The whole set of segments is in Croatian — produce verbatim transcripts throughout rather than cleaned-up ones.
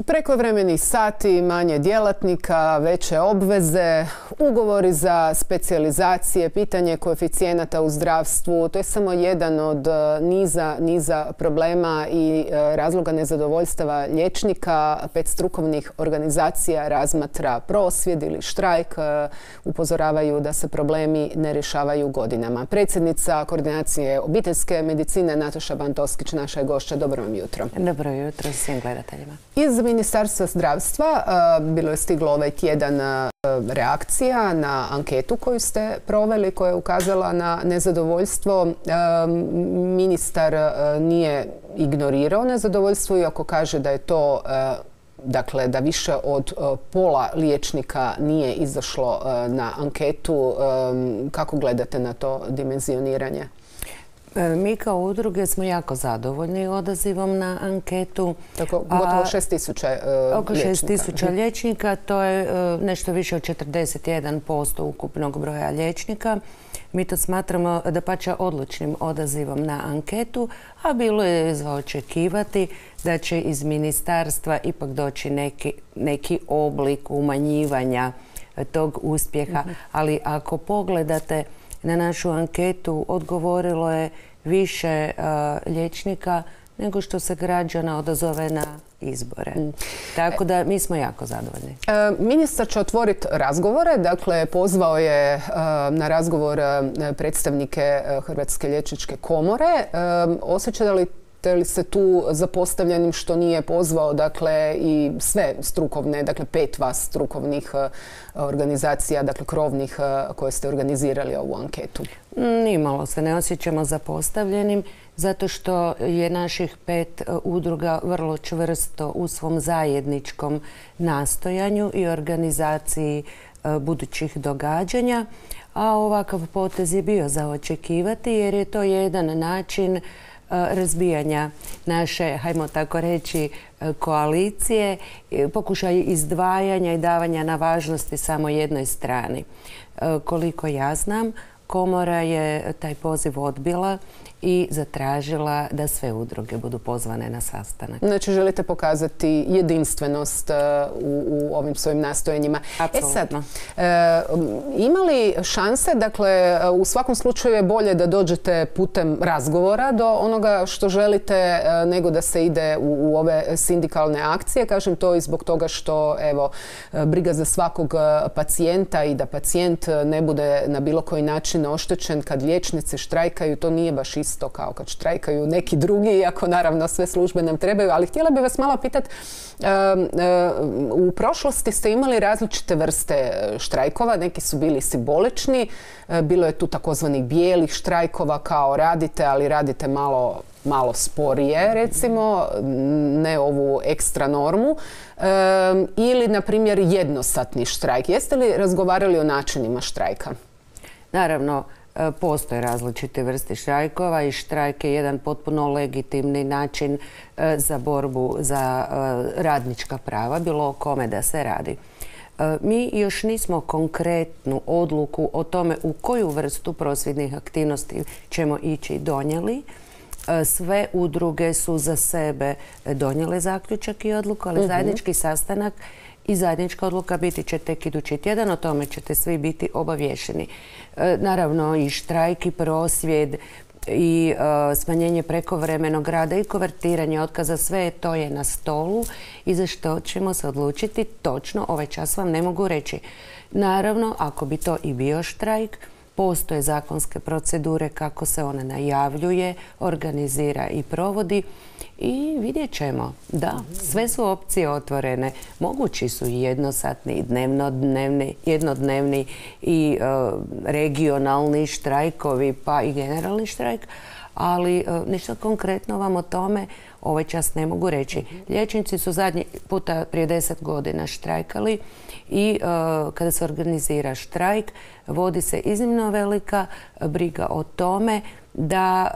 Prekovremeni sati, manje djelatnika, veće obveze, ugovori za specijalizacije, pitanje koeficijenata u zdravstvu. To je samo jedan od niza, niza problema i razloga nezadovoljstava liječnika. Pet strukovnih organizacija razmatra prosvjed ili štrajk. Upozoravaju da se problemi ne rješavaju godinama. Predsjednica koordinacije obiteljske medicine Nataša Bantoskić, naša je gošća. Dobro vam jutro. Dobro jutro svim gledateljima. Iz Ministarstva zdravstva bilo je stiglo ovaj tjedan reakcija na anketu koju ste proveli, koja je ukazala na nezadovoljstvo. Ministar nije ignorirao nezadovoljstvo, iako kaže da je to, dakle, da više od pola liječnika nije izašlo na anketu. Kako gledate na to dimenzioniranje? Mi kao udruge smo jako zadovoljni odazivom na anketu. Tako, gotovo šest tisuća liječnika. Oko šest tisuća liječnika, to je nešto više od četrdeset jedan posto ukupnog broja liječnika. Mi to smatramo dapače odlučnim odazivom na anketu, a bilo je za očekivati da će iz ministarstva ipak doći neki, neki oblik umanjivanja tog uspjeha. Ali ako pogledate na našu anketu, odgovorilo je više uh, liječnika nego što se građana odazove na izbore. Mm. Tako da mi smo jako zadovoljni. E, ministar će otvoriti razgovore. Dakle, pozvao je uh, na razgovor uh, predstavnike uh, Hrvatske liječničke komore. Uh, osjećate li li se tu zapostavljenim što nije pozvao, dakle, i sve strukovne, dakle pet vas strukovnih organizacija, dakle krovnih, koje ste organizirali ovu anketu? Nimalo se ne osjećamo zapostavljenim, zato što je naših pet udruga vrlo čvrsto u svom zajedničkom nastojanju i organizaciji budućih događanja, a ovakav potez je bio za očekivati jer je to jedan način razbijanja naše, hajmo tako reći, koalicije, pokušaj izdvajanja i davanja na važnosti samo jednoj strani. Koliko ja znam, komora je taj poziv odbila i zatražila da sve udruge budu pozvane na sastanak. Znači, želite pokazati jedinstvenost u, u ovim svojim nastojanjima. Apsolutno. E sad, e, ima li šanse, dakle, u svakom slučaju je bolje da dođete putem razgovora do onoga što želite, nego da se ide u, u ove sindikalne akcije. Kažem to i zbog toga što, evo, briga za svakog pacijenta i da pacijent ne bude na bilo koji način oštećen kad liječnici štrajkaju, to nije baš isto isto kao kad štrajkaju neki drugi, iako naravno sve službe nam trebaju. Ali htjela bih vas malo pitati, u prošlosti ste imali različite vrste štrajkova, neki su bili simbolični, bilo je tu takozvanih bijelih štrajkova kao radite, ali radite malo malo sporije, recimo, ne ovu ekstra normu, e, ili, na primjer, jednosatni štrajk. Jeste li razgovarali o načinima štrajka? Naravno, postoje različite vrste štrajkova i štrajk je jedan potpuno legitimni način za borbu za radnička prava, bilo o kome da se radi. Mi još nismo konkretnu odluku o tome u koju vrstu prosvjednih aktivnosti ćemo ići donijeli. Sve udruge su za sebe donijele zaključak i odluku, ali zajednički sastanak i zajednička odluka biti će tek idući tjedan, o tome ćete svi biti obavješeni. Naravno i štrajk i prosvjed i uh, smanjenje prekovremenog rada i konvertiranje otkaza, sve to je na stolu i za što ćemo se odlučiti točno ovaj čas vam ne mogu reći. Naravno, ako bi to i bio štrajk, postoje zakonske procedure kako se ona najavljuje, organizira i provodi i vidjet ćemo. Da, sve su opcije otvorene. Mogući su i jednosatni, dnevnodnevni, jednodnevni i uh, regionalni štrajkovi, pa i generalni štrajk, ali uh, ništa konkretno vam o tome ovaj čas ne mogu reći. Liječnici su zadnji puta prije deset godina štrajkali i uh, kada se organizira štrajk, vodi se iznimno velika briga o tome da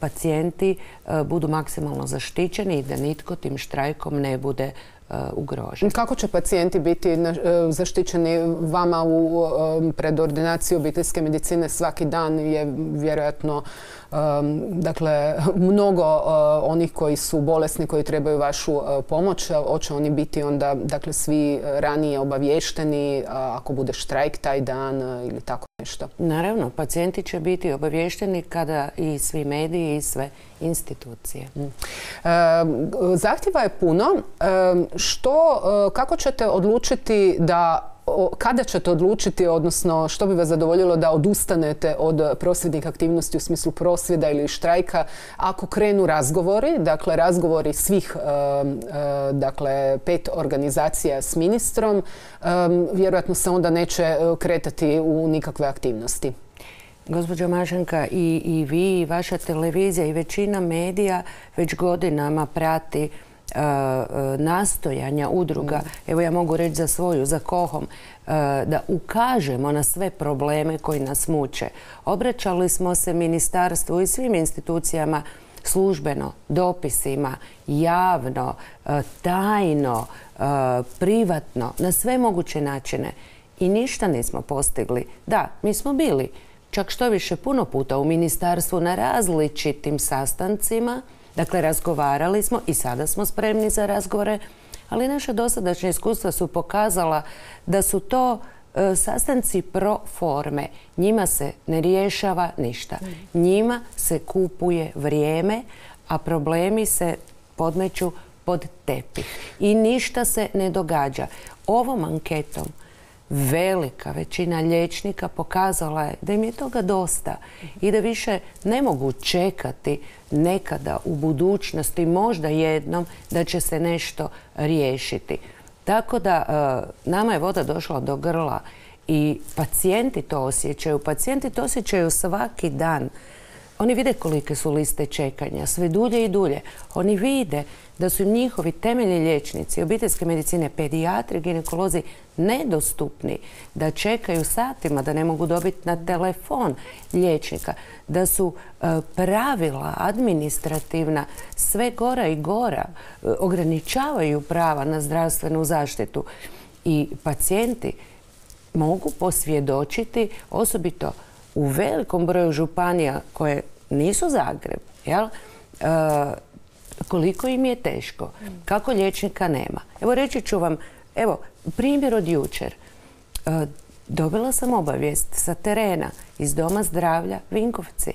pacijenti budu maksimalno zaštićeni i da nitko tim štrajkom ne bude ugrožen. Kako će pacijenti biti zaštićeni? Vama u predordinaciji obiteljske medicine svaki dan je vjerojatno dakle, mnogo onih koji su bolesni, koji trebaju vašu pomoć. Hoće oni biti onda dakle, svi ranije obaviješteni ako bude štrajk taj dan ili tako nešto? Naravno, pacijenti će biti obaviješteni kada i svi mediji i sve institucije. Zahtjeva je puno. Što, kako ćete odlučiti da kada ćete odlučiti, odnosno što bi vas zadovoljilo da odustanete od prosvjednih aktivnosti u smislu prosvjeda ili štrajka ako krenu razgovori, dakle razgovori svih dakle, pet organizacija s ministrom, vjerojatno se onda neće kretati u nikakve aktivnosti? Gospođo Mašanka, i, i vi, i vaša televizija i većina medija već godinama prati Uh, nastojanja udruga, mm. evo ja mogu reći za svoju, za Kohom, uh, da ukažemo na sve probleme koji nas muče. Obraćali smo se ministarstvu i svim institucijama službeno, dopisima, javno, uh, tajno, uh, privatno, na sve moguće načine. I ništa nismo postigli. Da, mi smo bili čak što više puno puta u ministarstvu na različitim sastancima. Dakle, razgovarali smo i sada smo spremni za razgovore, ali naša dosadašnja iskustva su pokazala da su to e, sastanci pro forme. Njima se ne rješava ništa. Njima se kupuje vrijeme, a problemi se podmeću pod tepih. I ništa se ne događa. Ovom anketom velika većina liječnika pokazala je da im je toga dosta i da više ne mogu čekati nekada u budućnosti, možda jednom, da će se nešto riješiti. Tako da nama je voda došla do grla i pacijenti to osjećaju. Pacijenti to osjećaju svaki dan. Oni vide kolike su liste čekanja, sve dulje i dulje. Oni vide da su im njihovi temeljni liječnici, obiteljske medicine, pedijatri, ginekolozi nedostupni, da čekaju satima, da ne mogu dobiti na telefon liječnika, da su e, pravila administrativna sve gora i gora, e, ograničavaju prava na zdravstvenu zaštitu. I pacijenti mogu posvjedočiti, osobito u velikom broju županija koje nisu Zagreb, jel? E, koliko im je teško, kako liječnika nema. Evo reći ću vam, evo primjer od jučer. E, dobila sam obavijest sa terena iz Doma zdravlja Vinkovci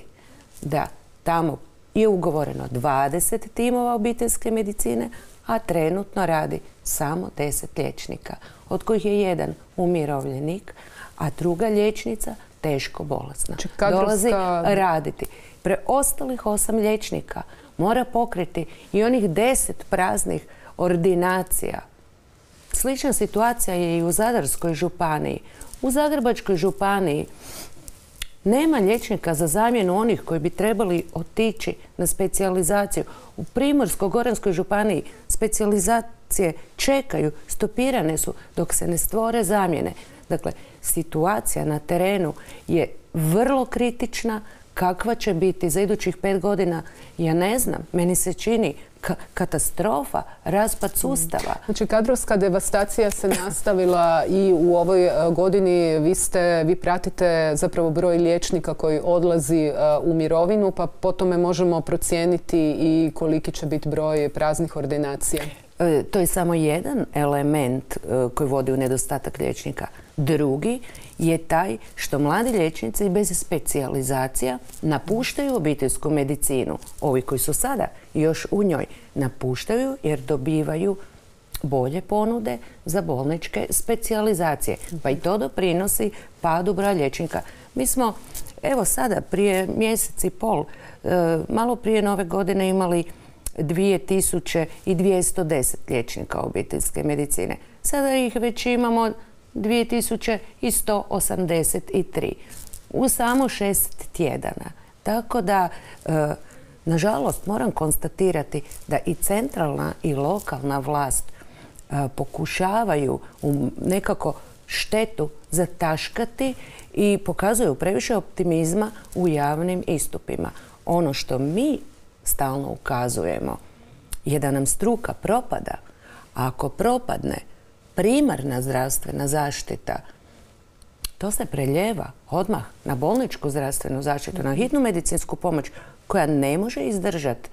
da tamo je ugovoreno dvadeset timova obiteljske medicine, a trenutno radi samo deset liječnika, od kojih je jedan umirovljenik, a druga liječnica teško bolesna. Znači, kadrovska... Dolazi raditi. Preostalih osam liječnika mora pokriti i onih deset praznih ordinacija. Slična situacija je i u Zadarskoj županiji. U Zagrebačkoj županiji nema liječnika za zamjenu onih koji bi trebali otići na specijalizaciju. U Primorsko-goranskoj županiji specijalizacije čekaju, stopirane su dok se ne stvore zamjene. Dakle, situacija na terenu je vrlo kritična. Kakva će biti za idućih pet godina, ja ne znam. Meni se čini ka katastrofa, raspad sustava. Znači, kadrovska devastacija se nastavila i u ovoj godini. Vi, ste, vi pratite zapravo broj liječnika koji odlazi u mirovinu, pa po tome možemo procijeniti i koliki će biti broj praznih ordinacija. E, to je samo jedan element e, koji vodi u nedostatak liječnika. Drugi je taj što mladi liječnici bez specijalizacija napuštaju obiteljsku medicinu. Ovi koji su sada još u njoj napuštaju jer dobivaju bolje ponude za bolničke specijalizacije. Pa i to doprinosi padu broja liječnika. Mi smo, evo sada, prije mjesec i pol, e, malo prije nove godine imali dvije tisuće dvjesto deset liječnika obiteljske medicine. Sada ih već imamo dvije tisuće sto osamdeset tri u samo šest tjedana. Tako da, e, nažalost, moram konstatirati da i centralna i lokalna vlast e, pokušavaju nekako štetu zataškati i pokazuju previše optimizma u javnim istupima. Ono što mi stalno ukazujemo je da nam struka propada. A ako propadne primarna zdravstvena zaštita, to se preljeva odmah na bolničku zdravstvenu zaštitu, na hitnu medicinsku pomoć koja ne može izdržati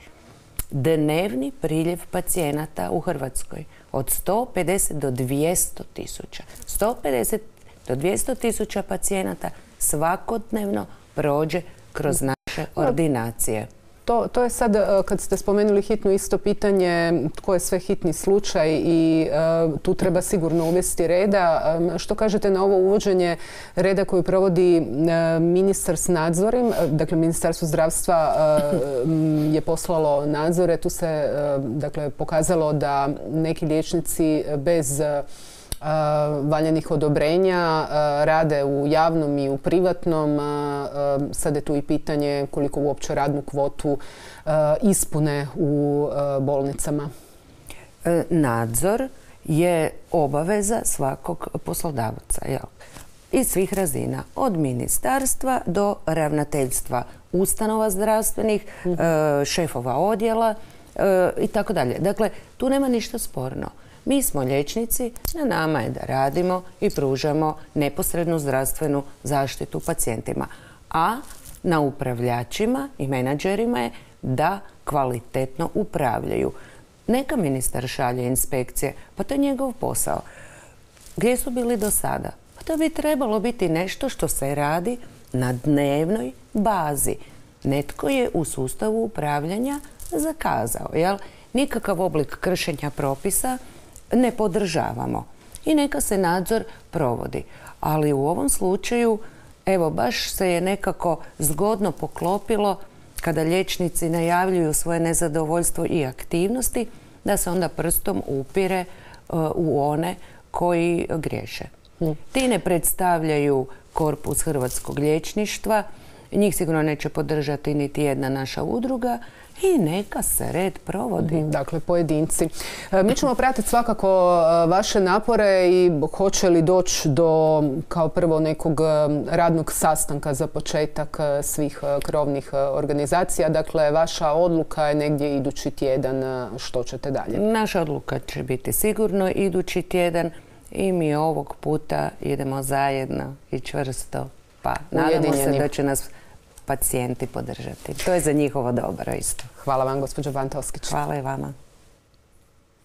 dnevni priljev pacijenata u Hrvatskoj od sto pedeset do dvjesto tisuća. sto pedeset do dvjesto tisuća pacijenata svakodnevno prođe kroz naše ordinacije. To, to je sad, kad ste spomenuli hitnu, isto pitanje tko je sve hitni slučaj i uh, tu treba sigurno uvesti reda. Um, što kažete na ovo uvođenje reda koju provodi uh, ministar s nadzorim? Uh, dakle, Ministarstvo zdravstva uh, je poslalo nadzore. Tu se uh, dakle, pokazalo da neki liječnici bez uh, valjanih odobrenja rade u javnom i u privatnom. Sad je tu i pitanje koliko uopće radnu kvotu ispune u bolnicama. Nadzor je obaveza svakog poslodavca, jel? Iz svih razina, od ministarstva do ravnateljstva ustanova zdravstvenih, mm-hmm. šefova odjela i tako dalje. Dakle, tu nema ništa sporno. Mi smo liječnici, na nama je da radimo i pružamo neposrednu zdravstvenu zaštitu pacijentima. A na upravljačima i menadžerima je da kvalitetno upravljaju. Neka ministar šalje inspekcije, pa to je njegov posao. Gdje su bili do sada? Pa to bi trebalo biti nešto što se radi na dnevnoj bazi. Netko je u sustavu upravljanja zakazao, jel? Nikakav oblik kršenja propisa ne podržavamo i neka se nadzor provodi. Ali u ovom slučaju, evo, baš se je nekako zgodno poklopilo kada liječnici najavljuju svoje nezadovoljstvo i aktivnosti, da se onda prstom upire uh, u one koji griješe. Mm. Ti ne predstavljaju korpus hrvatskog liječništva, njih sigurno neće podržati niti jedna naša udruga, i neka se red provodi. Dakle, pojedinci. Mi ćemo pratiti svakako vaše napore i hoće li doći do, kao prvo, nekog radnog sastanka za početak svih krovnih organizacija. Dakle, vaša odluka je negdje idući tjedan. Što ćete dalje? Naša odluka će biti sigurno idući tjedan i mi ovog puta idemo zajedno i čvrsto. Pa nadamo se da će nas pacijenti podržati. To je za njihovo dobro isto. Hvala vam, gospođo Bantovskić. Hvala i vama.